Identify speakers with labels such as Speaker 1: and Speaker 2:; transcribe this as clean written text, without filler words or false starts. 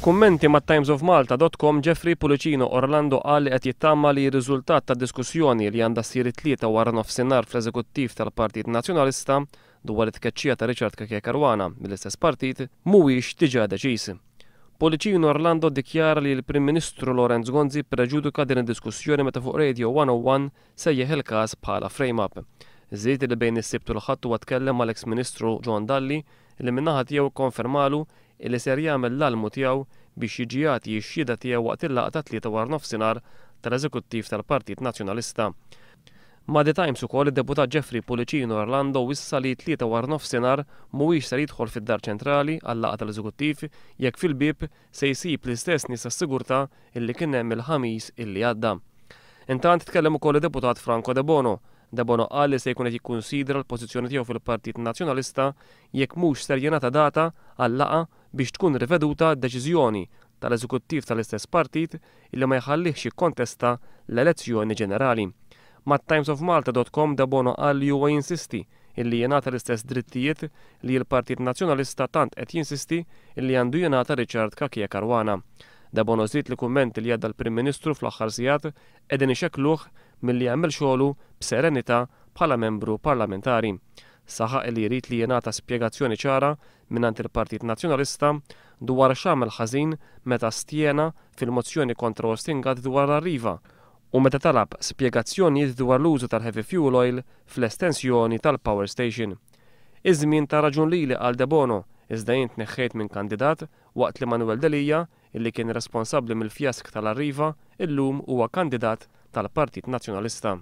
Speaker 1: F'kummenti ma' timesofmalta.com Jeffrey Pullicino Orlando qal li qed jittama li r-riżultat tad-diskussjoni li għandha ssir it-Tlieta wara nofsinhar fl-Eżekuttiv tal-Partit Nazzjonalista dwar it-tkeċċija ta' Richard Cachia Caruana mill-istess partit mhuwiex diġà deċiż. Pullicino Orlando ddikjara li l-Prim Ministru Lawrence Gonzi ppreġudika din id-diskussjoni meta fuq Radio 101 sejjaħ il-każ bħala frame-up. Żied li bejn is-Sibt u l-Ħadd huwa tkellem mal-eks Ministru John Dalli li min-naħa tiegħu kkonfermalu illi ser jagħmel l-almu tiegħu biex jiġi jagħti x-xhieda tiegħu waqt il-laqgħa tat-Tlieta waranofsinhar tal-Eżekuttiv tal-Partit Nazzjonalista. Ma' The Times ukoll id-Deputat Jeffrey Pullicino Orlando wissa li t-Tlieta waranofsinhar mhuwiex ser jidħol fid-Dar Ċentrali għal-laqgħa tal-Eżekuttiv jekk fil-bieb se jsib l-istess nies tas-sigurtà illi kien hemm il-Ħamis illi għadda. Intant tkellem ukoll id-Deputat Franco Debono. Debono qal li se jkun qed jikkunsidra l-pożizzjoni tiegħu fil-Partit Nazzjonalista jekk mhux ser jingħata data għal-laqgħa biex tkun riveduta d-deċiżjoni tal-Eżekuttiv tal-istess partit illi ma jħallihx jikkontesta l-elezzjoni ġenerali. Mat-timesofmalta.com Debono qal li huwa jinsisti illi jingħata l-istess drittijiet li l-Partit Nazzjonalista tant qed jinsisti illi għandu jingħata Richard Cachia Caruana. Debono żied li kummenti li għadda l-Prim Ministru fl-aħħar sigħat qegħdin ixekkluh milli jagħmel xogħlu b'serenità bħala membru parlamentari. Saħaq li jrid li jingħata spjegazzjoni ċara mingħand il-Partit Nazzjonalista dwar x'għamel ħażin meta astjena fil-mozzjoni kontra Austin Gatt dwar l-Arriva u meta talab spjegazzjonijiet dwar l-użu tal-heavy fuel oil fl-estensjoni tal-power station. Iż-żmien ta raġun lili qal Debono, iżda jien tneħħejt minn kandidat waqt li Manuel Delia, illi kien responsabbli mill-fjask tal-Arriva, illum huwa kandidat tal-Partit Nazzjonalista.